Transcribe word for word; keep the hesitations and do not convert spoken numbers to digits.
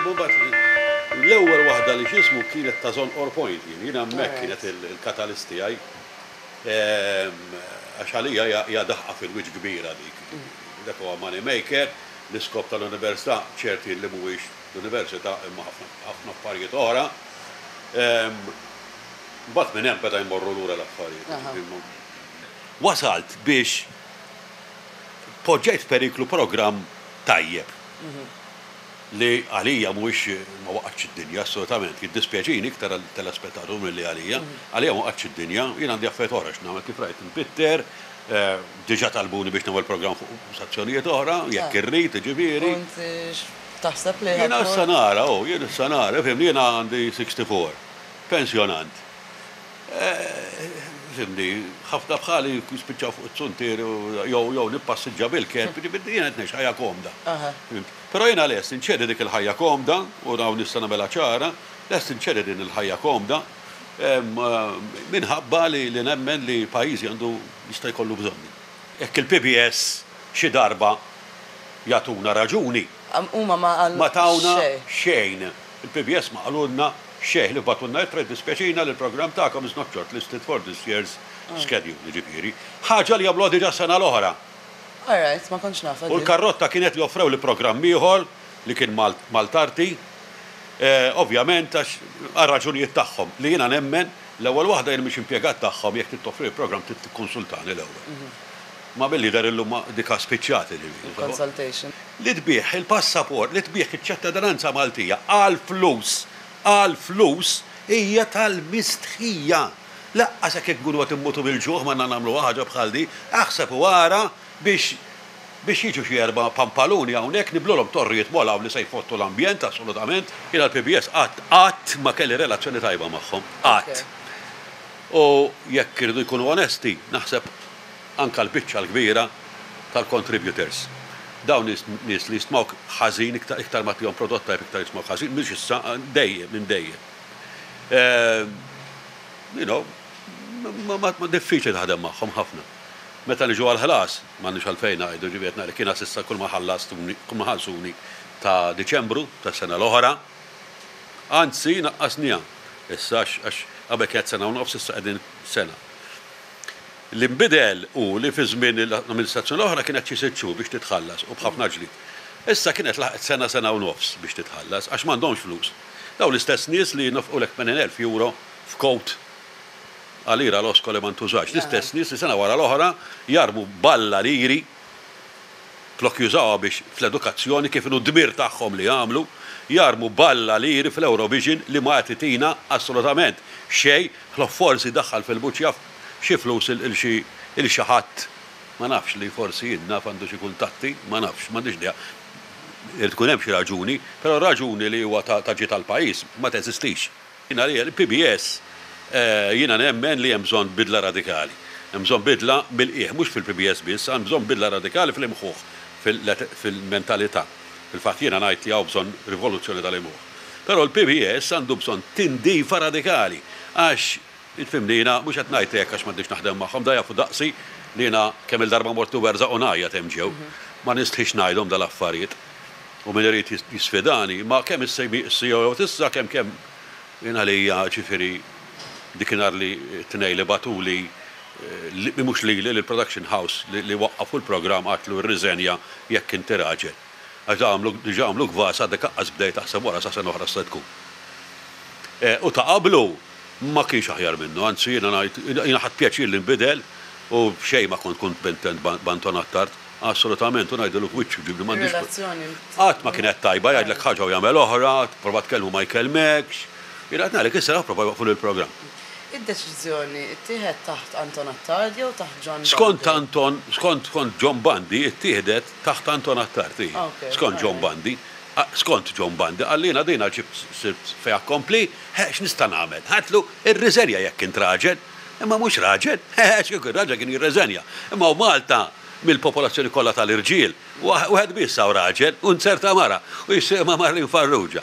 Mbagħad l-ewwel waħda li x'ismu kienet ta' Żonqor Point, jien jiena hemmhekk kienet il-katalist tiegħi. Għax għalija hija daħqa fil-wiċċ kbira dik. Dak huwa money maker, l-iskop tal-università ċerti li mhuwiex l-università imma ħafna affarijiet oħra. Mbagħad minn hemm beda jmorru lura l-affarijiet. Wasalt biex poġġejt periklu programm tajjeb li għalija mhuwiex ma waqgħatx id-dinja assolutament, jiddispjaċini iktar telespettatur milli għalija. Għalija ma waqgħatx id-dinja, jien għandi affarijiet oħra x'nagħmel, kif rajt npitter, diġà talbuni biex nagħmel programm fuq stazzjonijiet oħra, jekk irrid, ġifieri. Taħseb li Jiena issa nara, oh, jien issa nara, fhimni, jiena għandi sittaħux, pensjonant. Fhimni, ħafna bħali spiċċaw fuq it-suntier jew jew nippassiġġa bil-kelb, jiena qed ngħix ħajja komda. Però jiena lest inċedi dik il-ħajja komda, u hawn nista' nagħmilha ċara, lest inċedi din il-ħajja komda minħabba li nemmen li pajjiżi għandu jista' jkollu bżonni. Jekk il-P B S xi darba jagħtuna raġuni. Huma ma qalu Ma tawna xejn. Il-P B S ma qalulna xejn li bagħtulna ittra, "Dispjaċina li l-programm tagħkom is not shortlisted for this year's schedule", ġifieri. Ħaġa li għamlu diġà sena l-oħra. Alright, ma kontx naf. U l-karrotta kienet li offrew li programm ieħor li kien Maltarti, ovvjament għax għal raġunijiet tagħhom li jiena nemmen l-ewwel waħda jien mhix impjegat tagħhom, jekk toffri il-programm trid tikkonsultani l-ewwel. Ma billi dar illum dika spiċċati ġifieri. Consultation. Li tbigħ il-passaport, li tbigħ iċ-ċittadinanza Maltija għal flus, għal flus hija tal-mistħija. Lanqas jekk ikunu qed immutu bil-ġuħ ma nagħmlu ħaġa bħal di, aħseb u ara biex biex jiġu xi erba' pampaluni hawnhekk nibnulhom torrijiet molaw li se jfottu l-ambjent assolutament. Jiena l-P B S qatt qatt ma kelli relazzjoni tajba magħhom, qatt. U jekk irridu jkunu onesti, naħseb anka l-biċċa l-kbira tal-contributors. Dawn nies nies li jistmawk ħażin, iktar iktar ma tihom prodott tajb iktar jistmawk ħażin, mhux issa, dejjem minn dejjem. You know, ma, ma, ma diffiċli taħdem magħhom ħafna. Meta niġu għal-ħlas, m'għandix għalfejn ngħidu, ġifieri ngħid kiena s'issa kull ma ħallastuni, kull ma ħallsuni ta' Diċembru ta' sena l-oħra, anzi naqqasnija. Issa għax qabel kienet sena u nofs, issa qegħdin sena. L-imbidel u li fi żmien l-amministrazzjoni l-oħra kienet xi sitt xhur biex titħallas u b'ħafna ġlied. Issa kienet laħqet sena, sena u nofs biex titħallas għax m'għandhomx flus. Daw l-istess nies li nofqu tmenin elf euro f'kowt għalira l-osko li ma ntużax. L-istess nies li sena wara l-oħra jarmu balla liri flok jużawha biex fl-edukazzjoni kif inhu dmir tagħhom li jagħmlu, jarmu balla liri fl-Eurovision li ma jagħtina assolutament xejn, ħlief forsi daħħal fil-buċja xi flus il xi il xi ħadd ma nafx li forsi jien naf għandu xi kuntatti, ma nafx, m'għandix idea. Irid tkun hemm xi raġuni, però raġuni li huwa ta' ġi tal-pajjiż ma teżistix. Jiena li l-P B S jiena nemmen li hemm bżonn bidla radikali. Hemm bżonn bidla mill-qiegħ, mhux fil-P B S biss, hemm bżonn bidla radikali fil-imħuħ, fil-mentalità. Fil-fatt jiena ngħid li hawn bżonn rivoluzzjoni tal-imħuħ. Però l-P B S għandu bżonn tindifa radikali għax il-fimni jiena mhux qed ngħid hekk għax m'għandix naħdem magħhom, da jafu daqsi li jiena kemm il-darba mortu werżaq u ngħajjat hemm ġew. Ma nistħix ngħidhom dal-affarijiet. U min irid jisfidani, ma kemm is-C E O tissa kemm kemm jiena li hija ġifieri dikinhar li tnej li bagħtuli li mhux li l-production house li waqqafu l-programm għedtlu, "Rriżenja jekk inti raġel. Għax għamlu diġà għamlu gvas, għadek aqqas bdejt taħseb wara sa sena oħra se tkun." U ta' qablu ma kienx aħjar minnu, anzi jiena ngħid jiena ħadt pjaċir li nbidel u xejn ma kont kuntent b'Anton Attard, assolutament, u ngħidlu f'wiċċu ġibni m'għandix. Qatt ma kienet tajba, jgħidlek ħaġa u jagħmel oħra, prova tkellmu ma jkellmekx. Jiena qed ngħidlek issa prova jwaqfu l-programm. Id-deċiżjoni ttieħed taħt Anton Attard jew taħt John Skont Anton, skont skont John Bundy, ittieħdet taħt Anton Attard. Skont John Bundy. Skont John Bundy, għallina dina ġibt sirt fait accompli, x'nista' nagħmel? Għedtlu, "Irriżenja jekk int raġel", imma mhux raġel, x'kien raġel kien jirriżenja. Imma u Malta mill-popolazzjoni kollha tal-irġiel, wieħed biss hawn raġel u nzerta mara u jisimha Marlene Farrugia.